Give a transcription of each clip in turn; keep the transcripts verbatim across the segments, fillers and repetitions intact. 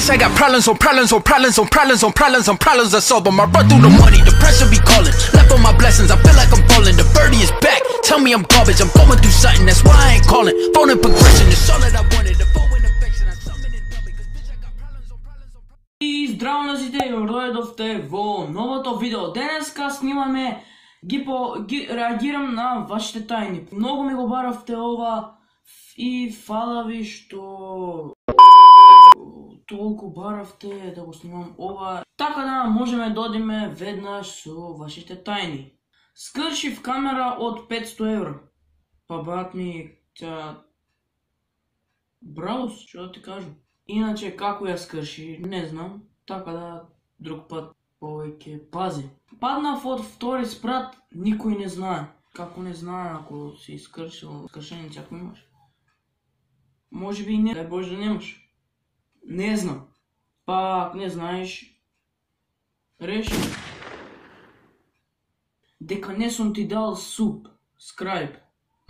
Bitch, I got problems on problems on problems on problems on problems on problems I solve them. I run through the money, the pressure be calling. Left on my blessings, I feel like I'm falling. The birdie is back, tell me I'm garbage. I'm going through something, that's why I ain't calling. Phone and progression, it's all that I wanted. The phone and affection, I summon it double. Cause bitch, I got problems on problems on problems. И здраво на сите, дојдовте во новото видео. Денеска снимаме ги по ги реагирам на вашите тајни. Многу ми го баравте ова и фала ви што толку баравте да го снимам ова. Така да можеме да одиме веднаш со вашите тајни. Скршив камера од петсто евра. Па брат ми, тя... Браво, што да ти кажам. Иначе како ја скрши, не знам. Така да друг пат повеќе пази. Паднав од втори спрат, никој не знае. Како не знае ако си скршил скршеници ако имаш? Може би и не, дај Боже да немаш. Не знам. Па ако не знаеш, реши. Дека не сум ти дал суб, скрайб.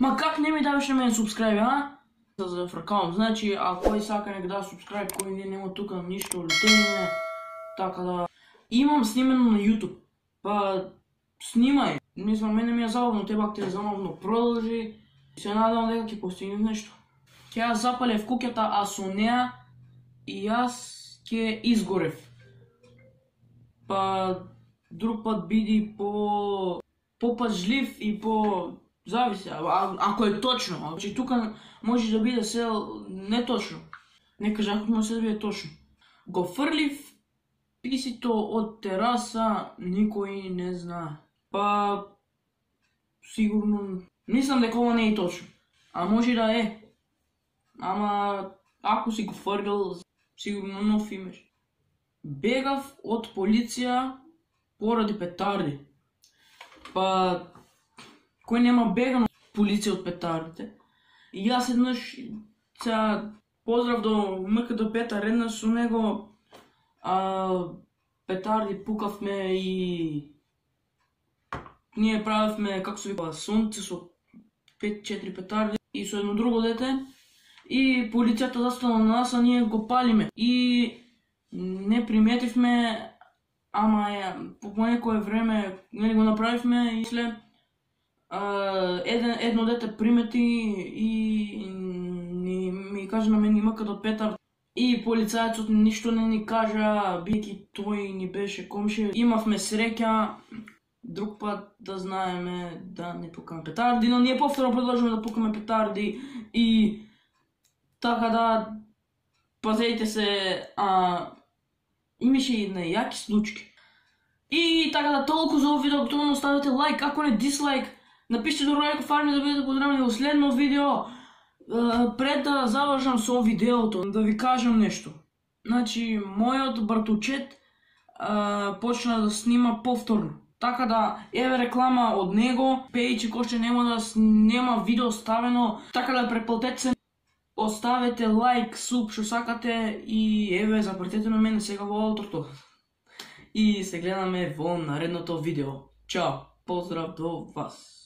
Ма как не ми даваш на мен субскрайб, а? Да зафракавам. Значи, а кој сака нека да субскрайб, кој не нема тука ништо лутење. Така да... Имам снимено на YouTube. Па... Снимај. Мислам, мене ми е забавно, тебе ако те е забавно, продолжи. Се надам дека ќе постигнеш нешто. Ќе ја запалев куќата, а со неа и јас ќе изгорев. Па... Друг пат биди по... попажлив и по... Зависи, а, ако е точно. Значи тука може да биде се неточно. Не кажа ако може да биде точно. Го фрлив писито од тераса, никој не знае. Па... Сигурно... Мислам дека ова не е точно. А може да е. Ама... Ако си го фргал, сигурно нов имаш. Бегав од полиција поради петарди. Па... Кој нема бегано полиција од петардите. И јас еднаш... Сега... Поздрав до МКД Петар, еднаш со него... А, петарди пукавме и... Ние правевме, како се вика, сонце со пет-четири петарди и со едно друго дете. И полицијата застана на нас, а ние го палиме. И не приметивме, ама е, по некое време нели го направивме и след еден, едно дете примети и ни, ми кажа на мен има като Петар. И полицајецот ништо не ни кажа, бидејќи тој ни беше комшија. Имавме среќа, друг пат да знаеме да не пукаме петарди, но ние повторно продолжуваме да пукаме петарди и така да пазете се, а имаше и нејаки случаи. И така да толку за овој видео, готово оставете лайк, ако не дислайк, напишете до Ројко Фарми да бидете поздравени во следно видео. Пред да завршам со видеото, да ви кажам нешто. Значи, мојот братучет почна да снима повторно. Така да, еве реклама од него, пејчи кој што нема да нема видео ставено, така да преплатете се. Оставете лайк, суб, што сакате и еве, запратете на мене сега во аутрото. И се гледаме во наредното видео. Чао, поздрав до вас.